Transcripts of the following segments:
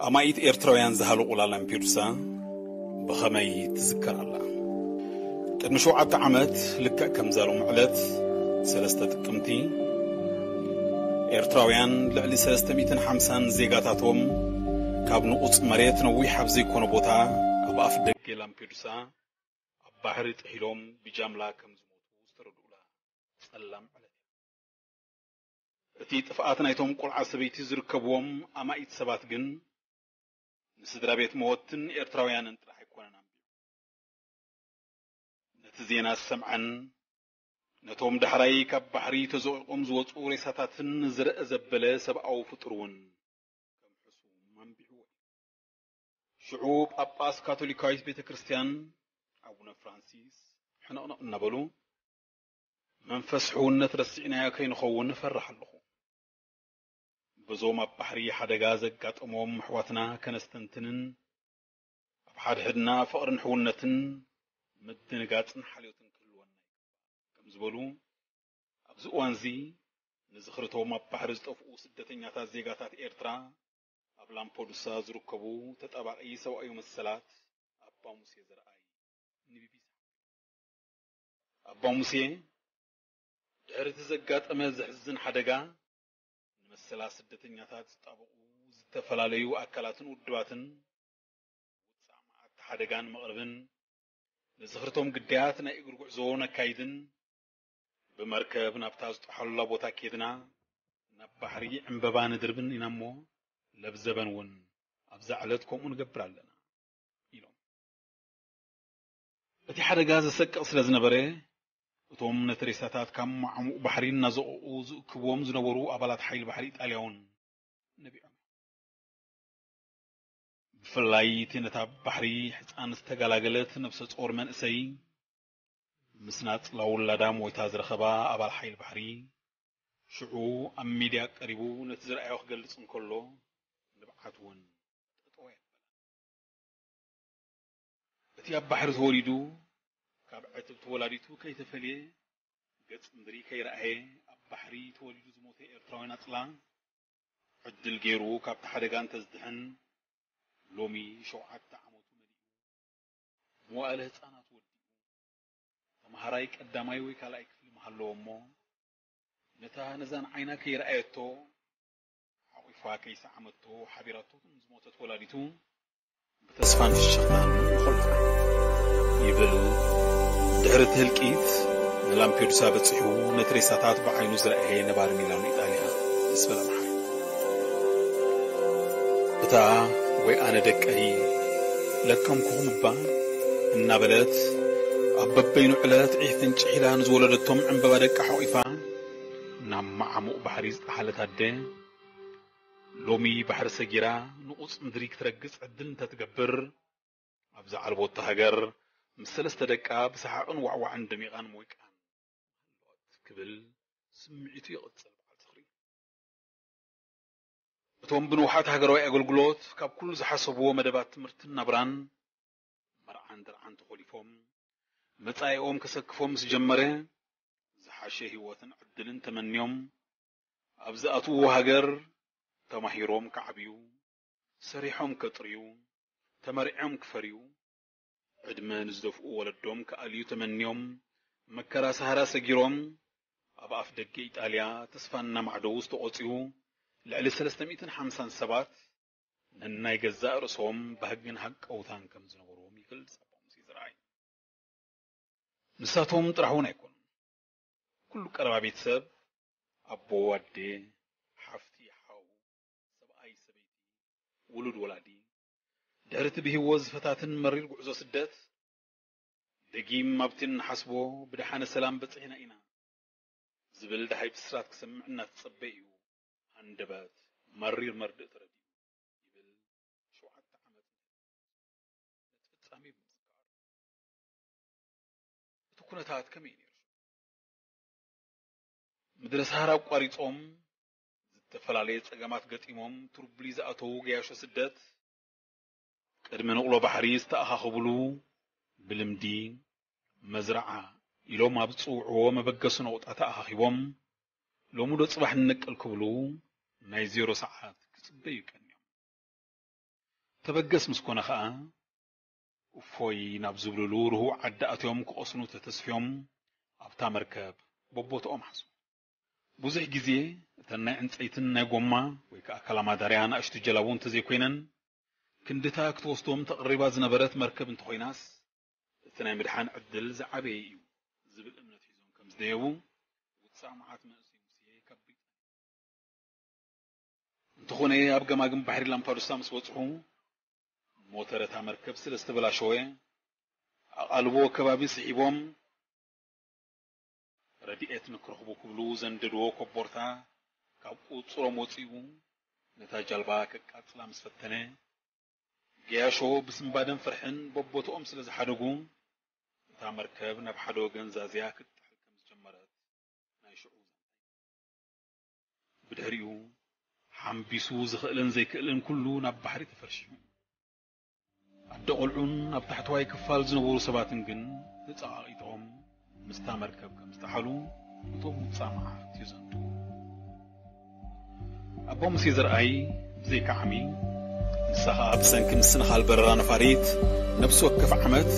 ኣማኢት ኤርትራውያን ዝሃለቑላ ላምፔዱሳ ብኸመይ ትዝከር ኣላ? ቅድሚ ሸውዓተ ዓመት፣ ልክዕ ከምዛ ሎም ዕለት፣ ሰለስተ ጥቅምቲ፣ ኤርትራውያን ልዕሊ ሰለስተ ሚእትን ሓምሳን ዜጋታቶም ካብ ንቑጽ መሬት ነዊሕ ኣብ ዘይኮነ ቦታ ኣብ ኣፍ ደገ ላምፔዱሳ ኣብ ባሕሪ ጥሒሎም ብጃምላ ከም ዝሞቱ ዝተረድኡላ ጸላም ዕለት እያ። እቲ ጥፍኣት ናይቶም ቆልዓ ሰበይቲ ዝርከብዎም ኣማኢት ሰባት ግን ንስድራ ቤት መወትን ኤርትራውያንን ጥራሕ ኣይኮነን ኣንቢሩ። ነቲ ዜና ዝሰምዐን ነቶም ዳሕራይ ካብ ባሕሪ ተዘቂቖም ዝወጹ ሬሳታትን ዝረአ ዘበለ ሰብኣዊ ፍጡር እውን ከም ሕሱም ኣንቢዕዎ እዩ። ሽዑ ጳጳስ ካቶሊካዊት ቤተ ክርስቲያን ኣቡነ ፍራንሲስ ሕንቕንቕ እናበሉ፣ "መንፈስ ሕውነት ረሲዕናዮ ከይንኸውን እፈርሕ ኣለኹ። በዞም ኣብ ባሕሪ ሓደጋ ዘጋጠሞም ኣሕዋትና ከነስተንትንን ኣብ ሓድሕድና ፍቕርን ሕውነትን ምድንጋጽን ሓልዮትን ክህልወና ይግባእ" ከም ዝበሉ፣ ኣብዚ እዋንዚ ንዝኽርቶም ኣብ ባሕሪ ዝጠፍኡ ስደተኛታት ዜጋታት ኤርትራ ኣብ ላምፖዱሳ ዝርከቡ ተጣባቒ ሰብኣዊ መሰላት ኣባ ሙሴ ዘርኣይ ንቢቢሲ ሓቢሩ። ኣባ ሙሴ፣ ድሕሪ እቲ ዘጋጠመ ዘሕዝን ሓደጋ፣ ንመሰላት ስደተኛታት ዝጣበቑ ዝተፈላለዩ ኣካላትን ውድባትን ውጻእ መዓት ሓደጋ ንምቕርብን ንዝኽርቶም ግዳያት ናይ እግሪ ጉዕዞ ነካይድን ብመርከብ ናብታ ዝጠሓሉላ ቦታ ኬድና ናብ ባሕሪ ዕምበባ ንድርብን ኢና እሞ፣ ለብዘበን እውን ኣብዛ ዕለት ከምኡ ንገብር ኣለና ኢሎም። እቲ ሓደጋ ዘሰቅቕ ስለ ዝነበረ፣ እቶም ነቲ ሬሳታት ካብ ማዕሙቕ ባሕሪ እናዘቐቑ ዝእክብዎም ዝነበሩ ኣባላት ሓይሊ ባሕሪ ኢጣልያ እውን ነቢዖም። ብፍላይ እቲ ነታ ባሕሪ ሕጻን ዝተገላገለት ነብሰ ጾር መንእሰይ፣ ምስ ናጽላ ውላዳ ሞይታ ዝረኸባ ኣባል ሓይሊ ባሕሪ፣ ሽዑ ኣብ ሚድያ ቀሪቡ ነቲ ዝረኣዮ ክገልጽ እንከሎ፣ ንብዓት እውን ጠጠው ኣየበለን። እቲ ኣብ ባሕሪ ተወሊዱ፣ ካብ ዕትብቲ ወላዲቱ ከይተፈልየ፣ ገጽ ምድሪ ከይረኣየ፣ ኣብ ባሕሪ ተወሊዱ ዝሞተ ኤርትራዊ ናጽላ፣ ዕድል ገይሩ ካብቲ ሓደጋ እንተዝድሕን፣ ሎሚ ሸውዓተ ዓመቱ መሊኡ፣ መዋእለ ህጻናት ወዲኡ፣ ተምሃራይ ቀዳማይ ወይ ካልኣይ ክፍሊ ምሃለዎ እሞ፣ ነታ ነዛን ዓይና ከይረኣየቶ፣ ሓቑፋ ከይሰዓመቶ፣ ሓቢራቶ ከም ዝሞተት ወላዲቱ ብተስፋን ፍሽኽታን ንኾልፋ ይብል። ድሕሪ እቲ ህልቂት ንላምፔዱሳ በጺሑ ነቲ ሬሳታት ብዓይኑ ዝረኣየ ነባሪ ሚላኖ ኢጣልያ ምስ በለ መሓሪ፣ "እታ ወይ ኣነ ደቀይ ለከምኩኹም እባ" እናበለት ኣብ በበይኑ ዕለት ዒፍ እንጭሒላ ንዝወለደቶም ዕምበባ ደቃ ሓቑፋ ናብ መዓሙቕ ባሕሪ ዝጠሓለት ኣደ፣ ሎሚ ባሕሪ ሰጊራ ንቑጽ ምድሪ ክትረግጽ ዕድል እንተትገብር፣ ኣብዛ ዓልቦታ ሃገር ምስ ሰለስተ ደቃ ብሰሓቕን ዋዕዋዕን ደሚቓን ሞይቃን ምሃለወት ክብል ስምዒቱ ይቕጽል በዓል ዝኽሪ። እቶም ብንውሓት ሃገራዊ ኣገልግሎት ካብ ኩሉ ዝሓሰብዎ መደባት ትምህርትን ናብራን፣ መርዓን ደርዓን ተኾሊፎም፣ መጻኢኦም ከሰክፎም ምስ ጀመረ፣ ዝሓሸ ህይወትን ዕድልን ተመንዮም፣ ኣብ ዝኣትውዎ ሃገር ተማሂሮም ክዓብዩ፣ ሰሪሖም ከጥርዩ፣ ተመርዕዮም ክፈርዩ፣ ዕድመ ንዝደፍኡ ወለዶም ክኣልዩ ተመንዮም፣ መከራ ሰሃራ ሰጊሮም፣ ኣብ ኣፍ ደገ ኢጣልያ ተስፋ እናማዕደዉ ዝተቖጽዩ ልዕሊ ሰለስተ ሚእትን ሓምሳን ሰባት ነናይ ገዛእ ርእሶም ባህግን ሃቀውታን ከም ዝነበርዎም ይገልጽ ኣባ ሙሴ ዘርኣይ። ንሳቶም ጥራሕ እውን ኣይኮኑን። ኩሉ ቀረባ ቤተሰብ፣ ኣቦ፣ ኣደ፣ ሓፍቲ፣ ሓው፣ ሰብኣይ፣ ሰበይቲ፣ ውሉድ፣ ወላዲ፣ ድሕሪ እቲ ብህይወት ዝፈታትን መሪር ጉዕዞ ስደት፣ ደጊም ኣብቲ እንሓስቦ ብደሓነ ሰላም በጺሕና ኢና ዝብል ደሃይ ብስራት ክሰምዕ እናተጸበየ እዩ፣ ሃንደበት መሪር መርድእ ተረዲኡ ይብል ሸውዓተ ዓመት ነቲ ፍጻሜ ብምዝካር። እቲ ኩነታት ከመይ ነይሩ? ምድረ ሰሃራ ኣቋሪጾም፣ ዝተፈላለየ ጸገማት ገጢሞም ትርቡሊ ዝኣተዉ ገያሾ ስደት፣ ቅድሚ ንቕሎ ባሕሪ ዝተኣኻኸብሉ፣ ብልምዲ መዝረዓ ኢሎም ኣብ ዝጽውዕዎ መበገሲ ነቑጣ ተኣኻኺቦም፣ ሎሚ ዶ ጽባሕ ንነቅል ክብሉ ናይ ዜሮ ሰዓት ክጽበዩ ቀንዮም። ተበገስ ምስ ኮነ ኸኣ፣ እፎይ ናብ ዝብልሉ ርሁው ዓዲ ኣትዮም ክቐስኑ ተተስፍዮም ኣብታ መርከብ በቦትኦም ሓዙ። ብዙሕ ግዜ እተን ናይ ዕንጸይትን ናይ ጎማ ወይ ከኣ ካላማዳርያ ንኣሽቱ ጀላቡ እንተዘይኮይነን፣ ክንድታ ክትወስዶም ተቐሪባ ዝነበረት መርከብ እንተኾይናስ፣ እቲ ናይ ምድሓን ዕድል ዝዓበየ እዩ ዝብል እምነት ሒዞም ከም ዝደየቡ ውጻእ መዓት መንእሰይ ሙሴ ካብ ብሪጣንያ። እንተኾነ ኣብ ገማግም ባሕሪ ላምፓዱሳ ምስ በጽሑ፣ ሞተር እታ መርከብ ስለ ዝተበላሸወ፣ ኣቓልቦ ከባቢ ስሒቦም ረድኤት ንክረኽቡ ክብሉ ዘንደድዎ ኮቦርታ ካብ ቁጽሮም ወጺኡ ነታ ጃልባ ከቃጽላ ምስ ፈተነ፣ ገያሾ ብስንባደን ፍርሕን በቦትኦም ስለ ዝሓደጉ፣ እታ መርከብ ናብ ሓደ ወገን ዛዝያ ክትጥሕል ከም ዝጀመረት ናይ ሽዑ ዛንታ። ብድሕሪኡ ሓምቢሱ ዝኽእልን ዘይክእልን ኩሉ ናብ ባሕሪ ተፈርሺሙ። ኣደ ቆልዑን ኣብ ታሕተዋይ ክፋል ዝነበሩ ሰባትን ግን ተጸቓቒጦም ምስታ መርከብ ከም ዝጠሓሉ እቶም ውጻእ መዓት ይዘንቱ። ኣቦ ሙሴ ዘርኣይ ብዘይካ ዓሚ፣ ንሳ ኸኣ ብሰንኪ ምስንኻል በረራ ነፋሪት፣ ነፍሲ ወከፍ ዓመት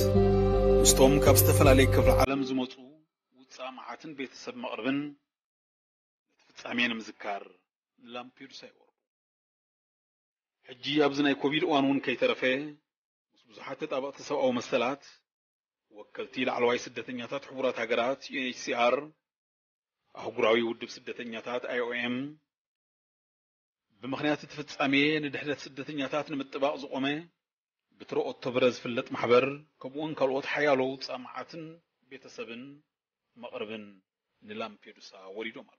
ምስቶም ካብ ዝተፈላለየ ክፍለ ዓለም ዝመጹ ውጻእ መዓትን ቤተሰብ መቕርብን ነቲ ፍጻሜ ንምዝካር ንላምፔዱሳ ይወርዱ። ሕጂ ኣብዚ ናይ ኮቪድ እዋን እውን ከይተረፈ፣ ምስ ብዙሓት ተጣበቕቲ ሰብኣዊ መሰላት፣ ወከልቲ ላዕለዋይ ስደተኛታት ሕቡራት ሃገራት፣ ዩ ኤን ኤች ሲ ኣር፣ ኣህጉራዊ ውድብ ስደተኛታት፣ ኣይ ኦ ኤም፣ ብምኽንያት እቲ ፍጻሜ ንድሕነት ስደተኛታት ንምጥባቕ ዝቖመ ብትረኦቶ ብረ ዝፍለጥ ማሕበር፣ ከምኡውን ካልኦት ሓያሎ ውጻእ መዓትን ቤተሰብን መቕርብን ንላምፔዱሳ ወሪዶም ኣለዉ።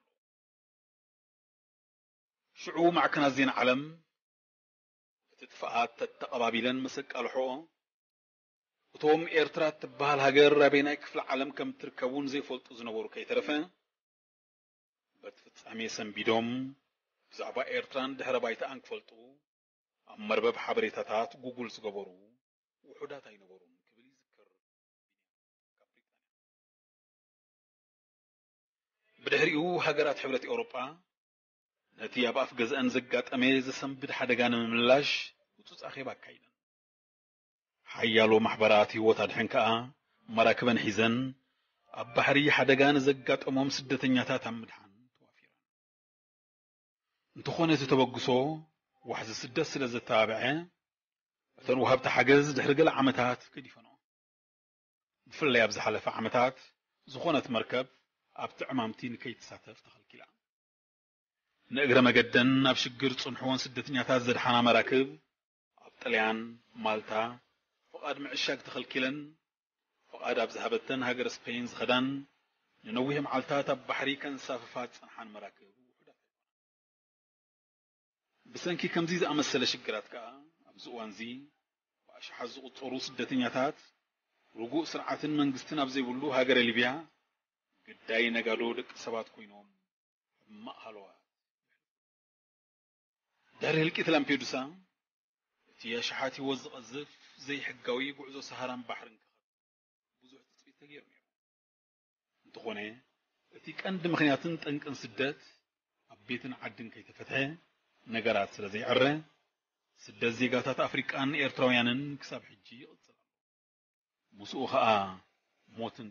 ሽዑ ማዕከናት ዜና ዓለም እቲ ጥፍኣት ተተቐባቢለን ምስ ኣቃልሕኦ፣ እቶም ኤርትራ እትበሃል ሃገር ኣበየናይ ክፍለ ዓለም ከም እትርከቡን ዘይፈልጡ ዝነበሩ ከይተረፈ፣ በቲ ፍጻሜ ሰንቢዶም ብዛዕባ ኤርትራን ድሕረ ባይታኣን ክፈልጡ ኣብ መርበብ ሓበሬታታት ጉጉል ዝገበሩ ውሑዳት ኣይነበሩን ክብል ይዝክር። ብድሕሪኡ ሃገራት ሕብረት ኤውሮጳ ነቲ ኣብ ኣፍ ገዝአን ዘጋጠመ ዘሰንብድ ሓደጋ ንምምላሽ ህጹጽ ኣኼባ ኣካይደን። ሓያሎ ማሕበራት ህይወት ኣድሕን ከኣ መራክበን ሒዘን ኣብ ባሕሪ ሓደጋ ንዘጋጠሞም ስደተኛታት ኣብ ምድሓን ተዋፊረን። እንተኾነ እቲ ተበግሶ ዋሕዚ ስደት ስለ ዘተባብዐ፣ እተን ወሃብቲ ሓገዝ ድሕሪ ገለ ዓመታት ገዲፈንኦ። ብፍላይ ኣብ ዝሓለፈ ዓመታት ዝኾነት መርከብ ኣብቲ ዕማምቲ ንከይትሳተፍ ተኸልኪላ። ንእግረ መገደን ኣብ ሽግር ዝጸንሕወን ስደተኛታት ዘድሓና መራክብ ኣብ ጥልያን ማልታ ፍቓድ ምዕሻግ ተኸልኪለን፣ ፍቓድ ኣብ ዝሃበተን ሃገር ስፔን ዝኸዳን ንነዊሕ መዓልታት ኣብ ባሕሪ ከንሳፍፋ ዝጸንሓን መራክብ ውሑዳት ኣይኮናን። ብሰንኪ ከምዚ ዝኣመሰለ ሽግራት ከኣ ኣብዚ እዋንዚ ብኣሽሓት ዝቑጸሩ ስደተኛታት ርጉእ ስርዓትን መንግስትን ኣብ ዘይብሉ ሃገረ ሊብያ ግዳይ ነጋዶ ደቂ ሰባት ኮይኖም ሕማቕ ሃለዋት። ድሕሪ ህልቂት ላምፔዱሳ እቲ ኣሽሓት ህይወት ዝቐዝፍ ዘይሕጋዊ ጉዕዞ ሰሃራን ባሕርን ክኸፍት ብዙሕ ትጽቢት ተገይሩ ነይሩ። እንተኾነ እቲ ቀንዲ ምኽንያትን ጠንቅን ስደት ኣብ ቤትን ዓድን ከይተፈትሐ ነገራት ስለ ዘይዕረ፣ ስደት ዜጋታት ኣፍሪቃን ኤርትራውያንን ክሳብ ሕጂ ይቕጽል ኣሎ። ምስኡ ኸኣ ሞትን